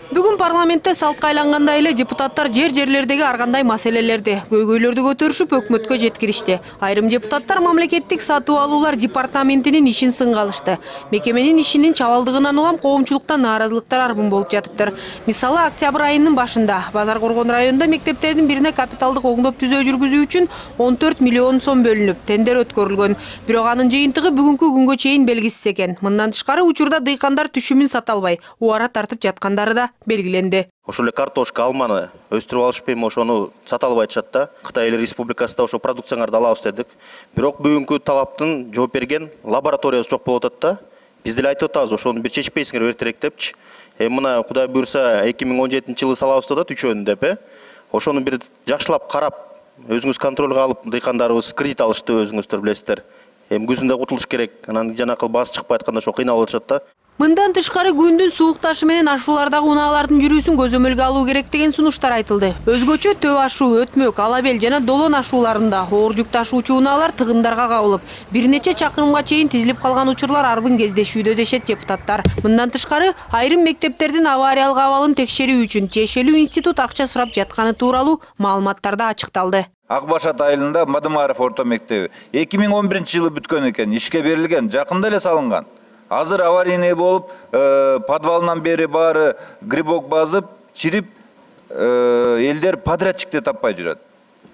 Бүгүн парламентте салтка айлангандай эле депутаттар жерлердеги ар кандай маселелерди, көйгөйлөрдү көтөрүшүп өкмөткө жеткиришти. Айрым депутаттар мамлекеттик сатып алуулар департаментинин ишин сынга алышты. Мекеменин ишинин чабалдыгынан улам коомчулуктан нааразылыктар арбын болуп жатыптыр. Мисалы, октябрь айынын башында Базар Коргон районунда мектептердин бирине капиталдык оңдоп түзөө жүргүзүү үчүн 14 миллион сом бөлүнүп, тендер өткөрүлгөн. Бирок анын жыйынтыгы бүгүнкү күнгө чейин белгисиз экен. Мындан тышкары учурда дыйкандар түшүмүн сата албай, убара тартып жаткандары да белгиленди. Ошол эле картошка, алманы өстүрүп алышып эми ошону сата албай атышат да. Кытай эл республикасында ошо продукцияңарды алабыз дедик. Бирок бүгүнкү талаптын жооп берген лабораториябыз жок болуп атат да. Биз деле айтып атабыз, ошону бир чечпейсиңер эртерээк депчи. Мына Кудай буйрса 2017 жылы салабыз деп атат, үчөөнү деп. Ошону бир жакшылап карап, өзүңүз контролго алып, дыйкандарыбыз кредит алышты, өзүңүздөр билесиздер. Күзүндө кутулуш керек. Анан жанакы баасы чыкпай атканда ошо кыйналып атышат да. Мындан тышкары күндүн суук ташы менен ашуулардагы унаалардын жүрүүсүн көзөмөлгө алуу керек деген сунуштар айтылды. Өзгөчө төп ашуу, өтмөк, алабел жана долон ашууларында оор жүк ташуучу унаалар тыгындарга кабылып, бир нече чакырымга чейин тизилип калган учурлар арбын кездешүүдө дешет депутаттар. Мындан тышкары айрым мектептердин авариялык абалын текшерүү үчүн тиешелүү институт акча сурап жатканы тууралуу маалыматтар да ачыкталды. Ак Башат айылында Мадымаров орто мектеби 2011 жылы бүткөн экен, ишке берилген, жакында эле салынган. Азыр аварийный болуп, подвалынан бери баары грибок басып, чирип, элдер подрядчикти таппай жүрөт.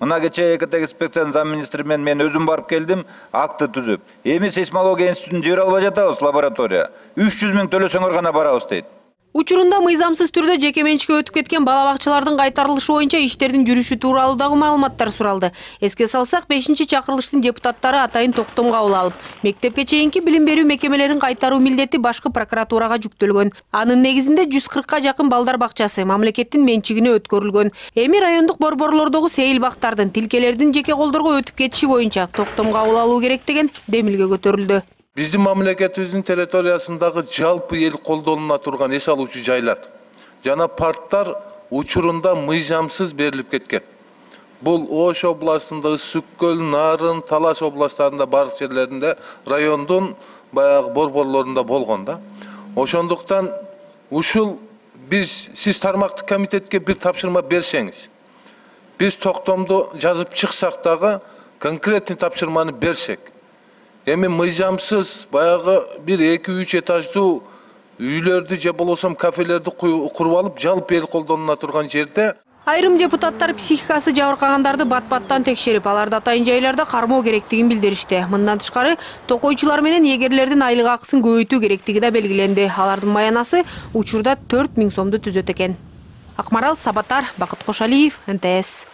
Мына кечээ экотек инспекциянын замминистри менен мен өзүм барып келдим, акты түзүп. Эми сейсмология институтун жибере албай жатабыз лаборатория. 300 000 төлөсөңөр гана барабыз дейт. Учурунда мыйзамсыз түрдө жеке менчикке өтүп кеткен бала бакчалардын кайтарылышы боюнча иштердин жүрүшү тууралуу дагы маалыматтар суралды. Эске салсак, 5-чакырылыштын депутаттары атайын токтом кабыл алып, мектепке чейинки билим берүү мекемелерин кайтаруу милдети башкы прокуратурага жүктөлгөн. Анын негизинде 140 жакын балдар бакчасы мамлекеттин менчигине өткөрүлгөн. Эми райондук борборлордогу сейил бактардын, тилкелердин жеке колдорго өтүп кетиши боюнча токтом кабыл алуу керек деген демилге көтөрүлдү. Биздин мамлекетибиздин территориясындагы жалпы эл колдонуна турган эс алуучу жайлар жана парктар учурунда мыйзамсыз берилип кеткен. Бул Ош областында, Ысык көл, Нарын, Талаш областтарында бардык жерлеринде райондун баягы борборлорунда болгон да. Ошондуктан ушул сиз тармактык комитетке бир тапшырма берсеңиз, биз токтомду жазып чыксак дагы конкретный тапшырманы берсек, эми мыйзамсыз баягы бир 2-3 этаждуу үйлөрдү же болбосо кафелерди куруп алып, жалпы эл колдонуна турган жерде айрым депутаттар психикасы жабыркагандарды бат-баттан текшерип, аларды атайын жайларда кармоо керектигин билдиришти. Мындан тышкары, токойчулар менен эгерлердин айлык акысын көбөйтүү керектиги да белгиленди. Алардын маянасы учурда 4 000 сомду түзөт экен. Акмарал Сабатар, Бакыт Кошалиев, НТС.